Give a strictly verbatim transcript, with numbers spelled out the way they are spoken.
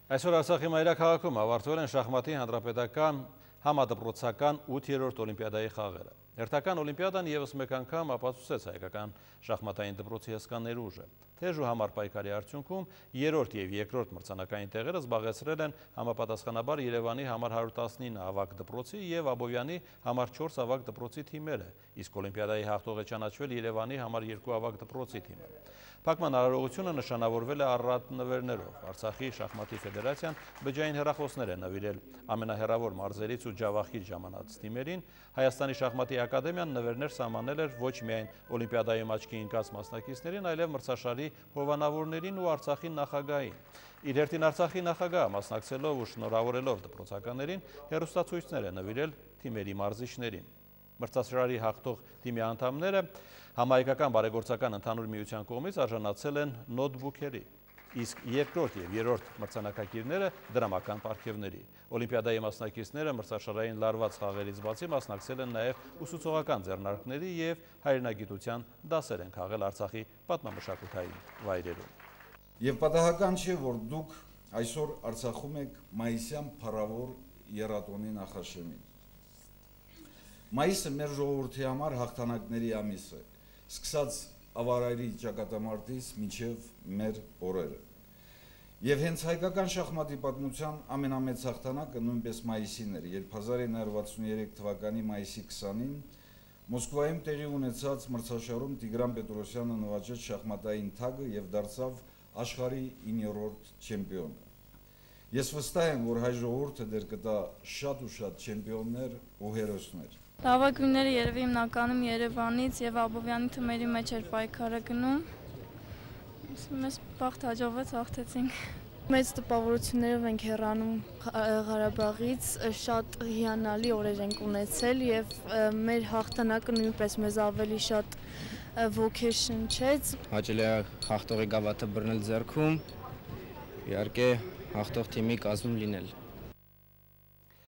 Այսօր Արցախի մայրաքաղաքում ավարտվել են շախմատի հանրապետական համադպրոցական ութերորդ օլիմպիադայի խաղերը։ Հերթական օլիմպիադան ևս մեկ անգամ ապացուցեց հայկական շախմատային դպրոցի հսկա ներուժը։ Թեժ ու համառ պայքարի արդյունքում երրորդ եւ երկրորդ մրցանակային տեղերը զբաղեցրել են համապատասխանաբար Երևանի համար հարյուր տասնինը ավագ դպրոցի եւ Աբովյանի համար չորս ավագ դպրոցի թիմերը, իսկ օլիմպիադայի հաղթող է ճանաչվել Երևանի համար երկու ավագ դպրոցի թիմը։ Փակման արարողությունը նշանավորվել է առատ նվերներով։ Արցախի շախմատի ֆեդերացիան բջջային հեռախոսներ է նվիրել ամենահեռավոր մարզերից ու ջավախիր ժամանած թիմերին։ Հայաստանի շախմատի ակադեմիան նվերներ սահմանել էր ոչ միայն օլիմպիադայում աչքի ընկած մասնակիցներին, այլև մրցաշարի հովանավորներին ու Արցախի նախագահին։ Իր հերթին Արցախի նախագահը մասնակցելով ու շնորհավորելով դպրոցականներին հեռուստացույցներ է նվիրել թիմերի մարզիչներին։ Մրցաշարի հաղթող թիմի անդամները համահայկական բարեգործական ընդհանուր միության կողմից արժանացել են նոթբուքերի, իսկ երկրորդ եւ երրորդ մրցանակակիրները դրամական պարգևների։ Օլիմպիադայի մասնակիցները մրցաշարային լարված խաղերից բացի մասնակցել են նաեւ ուսուցողական ձեռնարկների եւ հայրենագիտության դասեր են քաղել Արցախի պատմամշակութային վայրերում։ Եվ պատահական չէ, որ դուք այսօր Արցախում եք մայիսյան փառավոր եռատոնի նախաշեմին։ Մայիսը մեր ժողովրդի համար հաղթանակների ամիս է, սկսած ավարայրի ճակատամարտից մինչև մեր օրերը։ Եվ հենց հայկական շախմատի պատմության ամենամեծ հաղթանակը նույնպես մայիսին էր, երբ հազար ինը հարյուր վաթսուններեք թվականի մայիսի քսանին Մոսկվայում տեղի ունեցած մրցաշարում Տիգրան Պետրոսյանը նվաճեց շախմատային թագը եւ դարձավ աշխարհի իններորդ չեմպիոնը։ Ես վստահ եմ, որ հայ ժողովուրդը դեռ կտա շատ ու շատ չեմպիոններ ու հերոսներ։ Լավագույնները երևի հիմնականում Երևանից եւ Աբովյանի թմերի մեջ էր պայքարը գնում։ Մեզ բախտ հաջողվեց, հաղթեցինք։ Մեծ տպավորություններով ենք հեռանում Ղարաբաղից, շատ հիանալի օրեր ենք ունեցել եւ մեր հաղթանակը նույնպես մեզ ավելի շատ ոգեշնչեց։ Հաճելի է հաղթողի գավաթը բռնել ձեռքում, իհարկե հաղթող թիմի կազմում լինել։